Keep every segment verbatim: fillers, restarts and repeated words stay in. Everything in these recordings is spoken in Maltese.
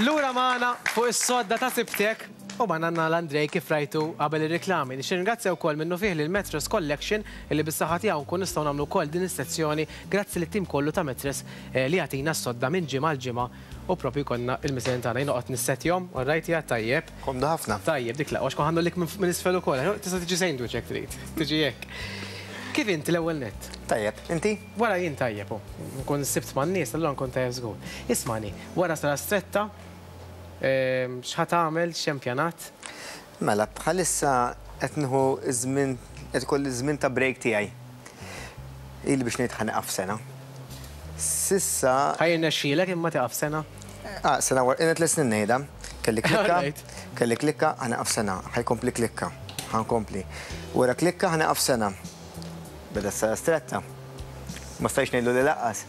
Lura magħna fuq is-sodda ta' Sibtek u magħna għandna l-Andrej kif rajtu qabel ir-reklami. Nixtieq ringrazzja wkoll minnu fih lil Mattress Collection illi bis-saħħa tiegħu nkun nistgħu nagħmlu wkoll din is-sezzjoni grazzi lit-tim kollu ta' Mattress eh, li jagħtina s-sodda minn ġimgħa l ġimgħa u propju konna il-mislin tagħna jien noqgħod nissetjhom, all right ja tajjeb. Komdu ħafna. Tajjeb, dik la, għax kon lik minn isfel ukoll, tista' tiġi sandwich jekk trid, tiġi hekk. Kif inti l-ewwel nett? Tajjeb, inti? Wara jien tajjeb, u. Nkun sibt man-nies, allura nkun tajjeb żgur. Ismani, wara Strada Stretta, ehm, x'ħa tagħmel, x'hemm pjanat? Mela, bħalissa qed nieħu żmien qed ikolli żmien ta' break tiegħi. Ili biex ngħid ħa nieqaf sena. S'issa Ħa jirnexxielek imma tieqaf sena? Ah, sena wara, ilni tliet snin ngħidha. Kelli klikka, Alright. kelli klikka, ħa nieqaf sena, ħa jkompli klikka, ħa nkompli. Wara klikka ħa nieqaf sena. Beda Strada Stretta. Ma stajx ngħidlu li lanqas.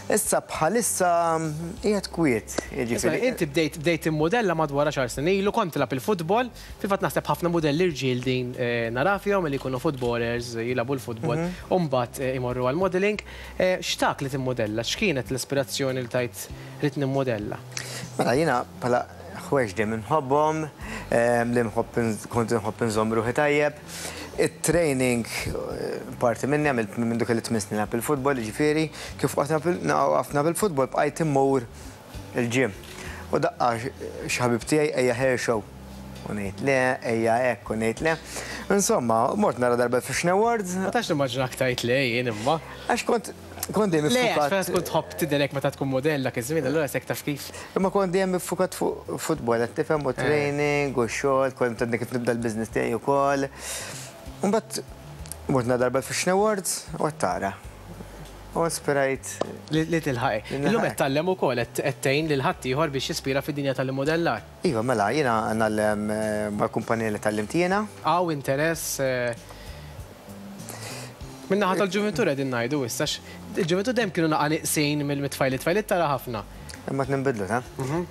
Issa bħalissa qiegħed kwiet, Isma, jiġifieri. inti bdejt bdejt immodella madwar għaxar snin ilu, kont tilgħab il-futbol, fil-fatt naħseb ħafna modelli rġiel din eh, nara fihom li jkunu footballers, jilagħbu l-futbol, u mbagħad eh, imorru għal-modeling. Eh, X'tak li timmodella? X'kienet l-ispirazzjoni li tajt rrid nimmodella? Mela jiena bħala ħwejjeġ dejjem nħobbhom, em, li nħobb kont nħobb nżomm ruħi tajjeb. Il-training eh, parti minni għamilt minn dik li tmien snin nilgħab il-futbol, ġifieri, kif waqafna bil-futbol bqajt immur il-gym. U daqqa xi ħabib tiegħi ejja hair show. U ngħid le, ejja hekk, u ngħid le. Insomma, mort nara darba Fashion Awards, Ma tax nimmaġinak tajt le jien imma. għax kont kont dejjem Le, għax iffukat. meta tkun tħobb tidherek meta tkun modella iż-żmien, allura sek taf kif. Imma kont dejjem iffukat fuq futbol, qed tifhem u training u xogħol, kont għadni kif nibda l-business tiegħi wkoll. Mbagħad mort nara darba Fashion Awards u qed tara. U ispirajt Li li tilħaqi. Li Illum nilħaqi. qed tgħallem ukoll qed qed tgħin lil ħaddieħor biex jispira fid-dinja tal-immodellar. Iva, mela, jiena ngħallem eh, mal-kumpanija li tgħallimt jiena. Hawn interess eh, Min-naħa tal-ġuventur qegħdin ngħidu issa il-ġuventur dejjem kienu naqa' neqsin mill-tfajliet, tfajliet tara ħafna. Imma qed ta'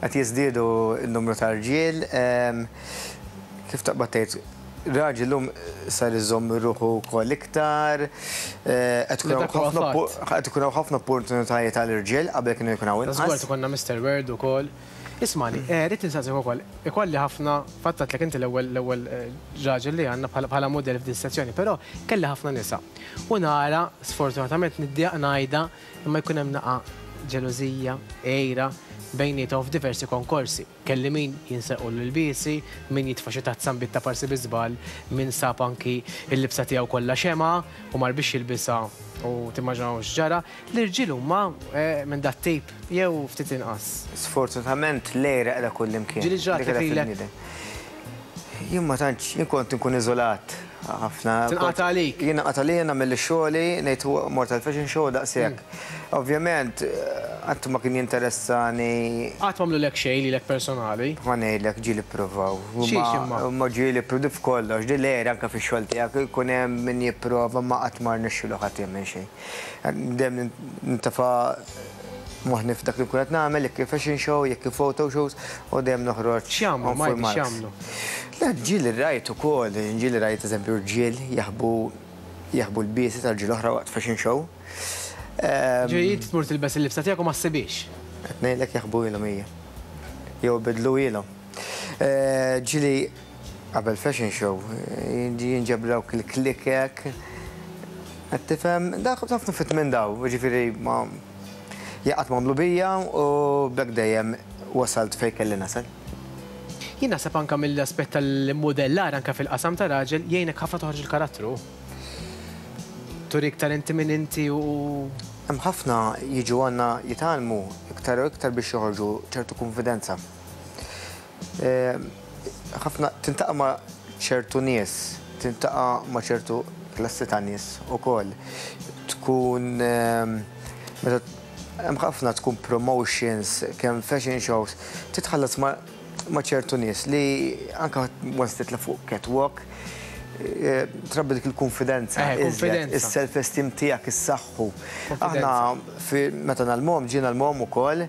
Qed jiżdiedu n-numru ta' rġiel. em, Kif taqbad tgħid, raġel lum sar iżomm ruħu wkoll iktar, eh, qed ikun hawn Li dak huwa ħafna fatt. qed ikun hawn ħafna opportunitajiet għall-irġiel qabel kienu jkun hawn Żgur inqas. ikollna Mister World ukoll. Ismani, eh, rrid insaqsik ukoll, ikolli ħafna, fattat lek inti l-ewwel l-ewwel eh, raġel li għandna bħala bħala model f'din sezzjoni, però kelli ħafna nisa. U nara, sfortunatament niddejjaq ngħidha, imma jkun hemm naqa ġelożija, għira bejniethom f'diversi konkorsi. Kelli min jinsequ l-ilbiesi, min jitfa' xi tazza nbid ta' parsi bi żball, min sab anki il-libsa tiegħu kollha xema u mar biex jilbisha u timmaġinaw x'ġara. L-irġiel huma eh, minn dat tip jew ftit inqas. Sfortunatament l-għira qiegħda kullimkien. Ġieli ġrat Dik qiegħda lilek? fil-bniedem. Jien ma tantx, jien kont nkun iżolat ħafna. Tinqata' għalik? Jien nqata' għalija nagħmel xogħli, ngħid mort għal-fashion show daqshekk. Ovvjament, qatt ma kien jinteressani Qatt m'għamlulek xejn lilek personali. Ma ngħidlek ġieli ppruvaw. Xiex imma? Ma ġieli ppruvaw f'kollox, di l-għira anke fix-xogħol tiegħek ikun hemm min jipprova ma qatt ma rnexxielu ħadd jagħmel xejn. Dejjem nintafa' moħħni f'dak li nkun qed nagħmel, jekk fashion show, jekk photo shows, u dejjem noħroġ X'jagħmlu, on full Majdi, marks. x'jagħmlu? Le, ġieli rajt ukoll, ġieli rajt eżempju rġiel jaħbu jaħbu l-lbiesi tal-ġiel oħra waqt fashion show. Ehm, Ġieli inti tmur tilbes il-libsa tiegħek u ma ssibix. Qed ngħidlek jaħbu ilhom hija. Jew bidlu ilhom. Eh, Ġieli qabel fashion show, eh, jinġab dawk il-klikek. Qed tifhem, dak ħafna fit minn daw, ġifieri ma jaqgħad m'għamlu bija u b'hekk dejjem wasalt fejn kelli nasal. Jien naħseb anke mill-aspett tal-modellar anke fil-qasam ta' raġel jgħinek ħafna toħroġ il-karattru. Turi iktar inti minn inti u Hemm ħafna jiġu għandna jitgħallmu iktar u iktar biex joħorġu ċertu konfidenza. Eh, Ħafna tiltaqa' ma' ċertu nies, tiltaqa' ma' ċertu klassi ta' nies ukoll. Tkun ehm, meta hemm ħafna tkun promotions, kemm fashion shows, titħallas ma' ma' ċertu nies li anka once titla' fuq catwalk, eh, trabbi dik il-konfidenza, Eh, iżjed, konfidenza. is-self-esteem tiegħek issaħħu. Konfidenza. Aħna fi meta ngħallmuhom ġie ngħallmuhom ukoll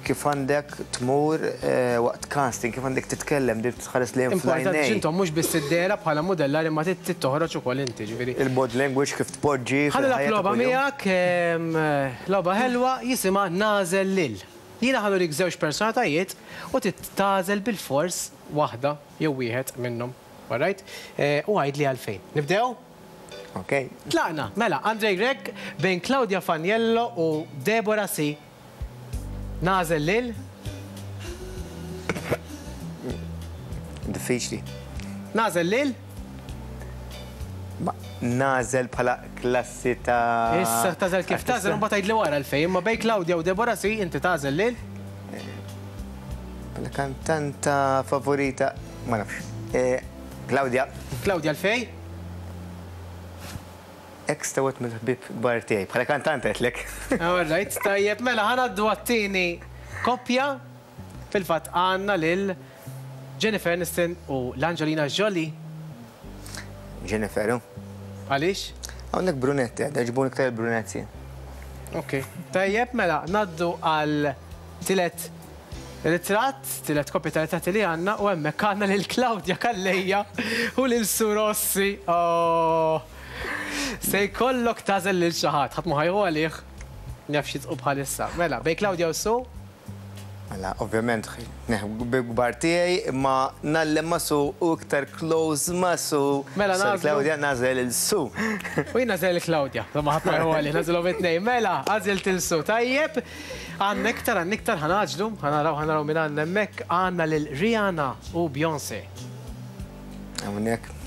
kif għandek tmur eh, waqt casting, kif għandek titkellem, di tħares li Importanti fl-għajnejn. x'intom mhux biss id-dehra bħala modellar imma trid toħroġ ukoll inti, ġifieri. Il-body language kif tpoġġi. Ħalli fil-ħajja ta' logħba kuljum. miegħek, em, logħba ħelwa jisimha Nagħżel Lil. Jiena ħa nurik żewġ personalitajiet u tagħżel bil-fors waħda jew wieħed minnhom. Alright? U għidli għalfejn. Nibdew? Ok. Tlaqna, mela, Andrej Grech bejn Claudia Faniello u Deborah C. Nagħżel lil? Diffiċli. Nagħżel lil? Nagħżel bħala klassi ta' Issa tagħżel kif tagħżel, u mbagħad tgħidli wara għalfejn, imma bejn Claudia u Deborah C inti tagħżel lil? Bħala kantanta favorita, ma nafx. Claudia. Claudia għalfejn? Ex ta' wieħed mill-ħbieb kbar tiegħi, bħala kantanta għedtlek. All right, tajjeb, mela ħa ngħaddu għat-tieni koppja. Fil-fatt għandna lil Jennifer Aniston u l-Angelina Jolie. Jennifer, Għaliex? Hawnhekk brunetti, għaġbuni iktar brunetti. Ok, tajjeb, mela ngħaddu għal tielet ritratt, tielet koppja ta' ritratti li għandna u hemmhekk għandna lil Claudia Calleja u lil Sue Rossi. Oh. Se jkollok tagħżel lil xi ħadd, ħadd ma ħa jieħu għalih, naf xi tqu bħalissa. Mela, bejn Claudia u Sue? Mela, ovvjament, kbar tiegħi, imma nallem ma' Sue u iktar close ma' Sue. Mela, Sorry, Claudia, nagħżel lil Sue. U jien nagħżel lil Claudia, ma ħadd ma jieħu għalih, nagħżilhom it-tnejn. Mela, għażilt lil Sue. Tajjeb, għandna iktar, għandna iktar, ħa ngħaġġlu, ħa naraw, ħa naraw min għandna hemmhekk, għandna lil Rihanna u Beyoncé. Hawnhekk.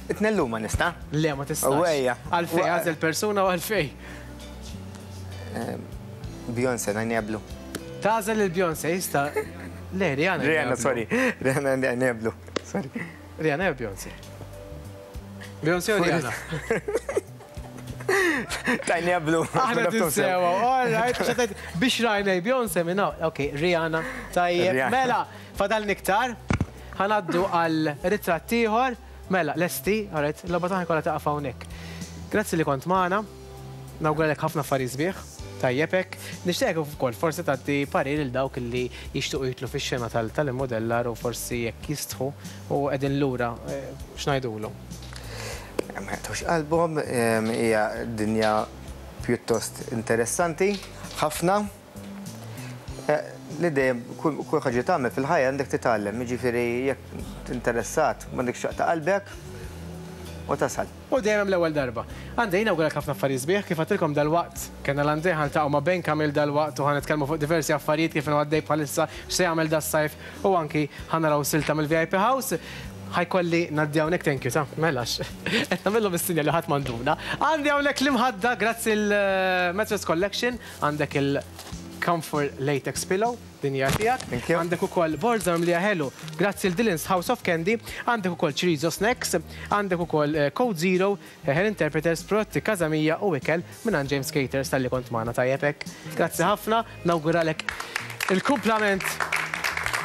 Itnellu ma nista'? Le, ma tistax. Ewwejja. Għalfej, għażel persuna u għalfej. Beyoncé, najneblu. Tagħżel il-Beyoncé, jista'. Le, Rihanna. Rihanna, sorry. Rihanna, najneblu. Sorry. Rihanna jew Beyoncé? Beyoncé u Rihanna? Tajneblu. Aħna tinsewa, all right. Biex rajna Beyoncé minna. Ok, Rihanna. Tajjeb, mela, fadal niktar. Ħa ngħaddu għal ritratt ieħor. Mela, lesti, all right, l-logħba tagħna kollha taqaf hawnhekk. Grazzi li kont magħna. Nawguralek ħafna affarijiet sbieħ. Tajjeb hekk. Nixtieq ukoll forsi tagħti parir lil dawk li jixtiequ jitlu fix-xena tal-immodellar u forsi jekk jistħu u qegħdin lura x'ngħidulhom. Ma jaqtgħux qalbhom, hija dinja pjuttost interessanti, ħafna. Li dejjem kull ħaġa tagħmel fil-ħajja għandek titgħallem, jiġifieri jekk tinteressat m'għandekx xaqta qalbek u tasal. U dejjem hemm l-ewwel darba. Għandi nawguralek ħafna affarijiet sbieħ, kif għedtilkom dalwaqt kellna l-Andrej ħa niltaqgħu ma' Ben Kamil dalwaqt u ħa nitkellmu fuq diversi affarijiet kif inhu għaddej bħalissa x'se jagħmel das-sajf u anki ħa naraw silta mill-V I P House. Ħa jkolli ngħaddi hawnhekk thank you ta' melax. Qed nagħmilhom is-sinjal li ħadd m'għanduna. Għandi hawnhekk l-imħadda grazzi l-Mattress Collection, għandek il-Comfort Latex Pillow, dinja tiegħek. Għandek ukoll borza mimlija ħelu, grazzi l Dylan's House of Candy, għandek ukoll Chorizo Snacks, għandek ukoll Code Zero, Hair Interpreters, prodotti Kazamija u ikel minn James Caters tal-li kont magħna tajjeb hekk. Grazzi ħafna, nawguralek il-kumplament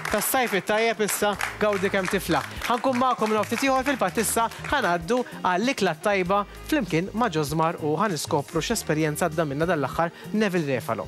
tas-sajf it-tajjeb issa gawdi kemm tifla. Ħa nkun magħkom ftit ieħor fil-fatt issa ħa ngħaddu għall-ikla tajba flimkien ma' Ġosmar u ħa niskopru x'esperjenza għadda minna dal-aħħar Neville Refalo.